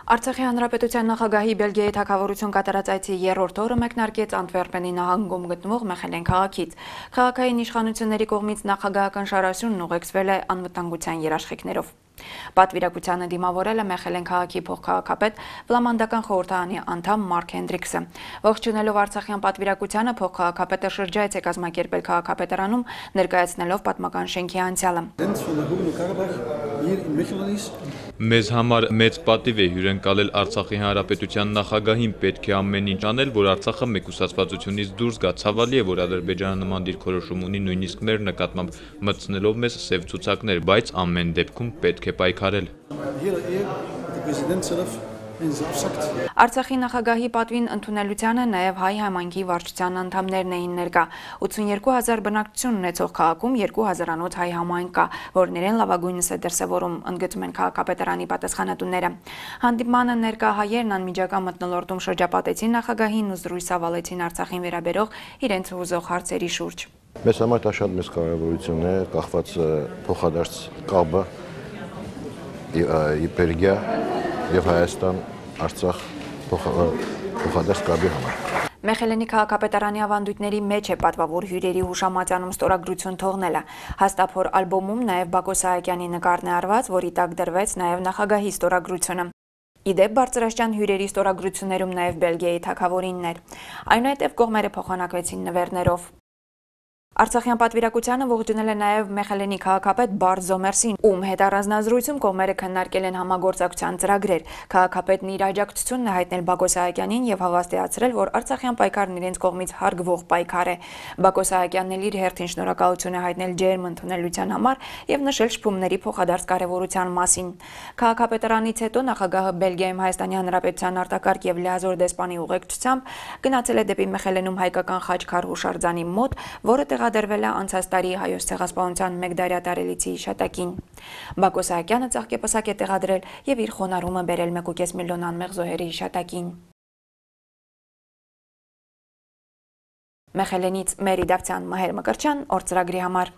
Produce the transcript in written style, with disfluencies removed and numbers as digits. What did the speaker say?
Արցախի հանրապետության նախագահի Բելգիայի թագավորություն կատարած այցի երրորդ օրը մեկնարկեց Անտվերպենի նահանգում գտնվող Մեխելեն քաղաքից։ Քաղաքային իշխանությունների կողմից նախագահական շարասյունն ուղեկցվել է անվտանգության երաշխիքներով։ Պատվիրակությանը դիմավորել է Մեխելեն քաղաքի փոխքաղաքապետ Ֆլամանդական խորհրդարանի անդամ Մարկ Հենդրիքսը։ Ողջունելով Արցախյան պատվիրակությանը փոխքաղաքապետը շրջայց է կազմակերպել քաղաքապետարանում, ներկայացնելով պատմական շենքի անցյալը։ Մեզ համար մեծ պատիվ է հյուրընկալել Արցախի հանրապետության նախագահին, պետք է ամեն ինչ անել, որ Արցախը մեկուսացվածությունից դուրս գա։ Ցավալի է, որ Ադրբեջանը նման դիրքորոշում ունի, նույնիսկ մեր նկատմամբ մտցնելով մեզ սև ցուցակներ, բայց ամեն դեպքում պետք է պայքարել։ Արցախի նախագահի պատվին ընդունելությանը նաև հայ համայնքի վարչության անդամներն էին ներկա։ 82,000 բնակչություն ունեցող քաղաքում 2000-անոց հայ համայնք կա, որն իրեն լավագույնս է դրսևորում, ընդգծում են քաղաքապետարանի պատասխանատուները։ Հանդիպմանը ներկա հայերն անմիջական մթնոլորտում շրջապատեցին նախագահին ու զրույց ավալեցին Արցախին վերաբերող իրենց հուզող հարցերի շուրջ։ Մեզ համար դա շատ մեծ կարևորություն է, կախված փոխադարձ կապը Բելգիա եւ Հայաստան Արցախ փոխադարձ կապի համար։ Մեխելենի քաղաքապետարանի ավանդույթների մեջ է պատվավոր հյուրերի հուշամատյանում ստորագրություն թողնելը։ Հաստափոր ալբոմում նաև Բակո Սահակյանի նկարն է արված, որի տակ դրվեց նաև նախագահի ստորագրությունը։ Իդեպ բարձրաստիճան հյուրերի ստորագրություններում նաև Բելգիայի թագավորինն էր։ Այնուհետև կողմերը փոխանակվեցին նվերներով։ Արցախյան պատվիրակությանը ողջունել է նաև Մեխելենի քաղաքապետ Բարդ Զոմերսին, ում հետ առանձնազրույցում կողմերը քննարկել են համագործակցության ծրագրեր։ Քաղաքապետն իր աջակցությունն է հայտնել Բակո Սահակյանին եւ հավաստիացրել, որ Արցախյան պայքարն իրենց կողմից հարգվող պայքար է։ Բակո Սահակյանն էլ իր հերթին շնորհակալություն է հայտնել ջերմ ընդունելության համար եւ նշել շփումների փոխադարձ կարեւորության մասին։ Քաղաքապետարանից հետո նախագահը Բելգիայում Հայաստանի Հանրապետության արտակարգ եւ լիազոր դեսպանի ուղեկցությամբ գնացել է դեպի Մեխելենում հայկական խաչքար հուշարձանի մոտ, որը տեղադրվել է անցած տարի հայոց ցեղասպանության 1 դարյա տարելիցի հիշատակին։ Բակո Սահակյանը ծաղկեպսակ է տեղադրել եւ իր խոնարհումը բերել 1.5 միլիոն անմեղ զոհերի հիշատակին։ Մեխելենից Մերի Դավթյան, Մհեր Մկրտչյան, օր ծրագրի համար։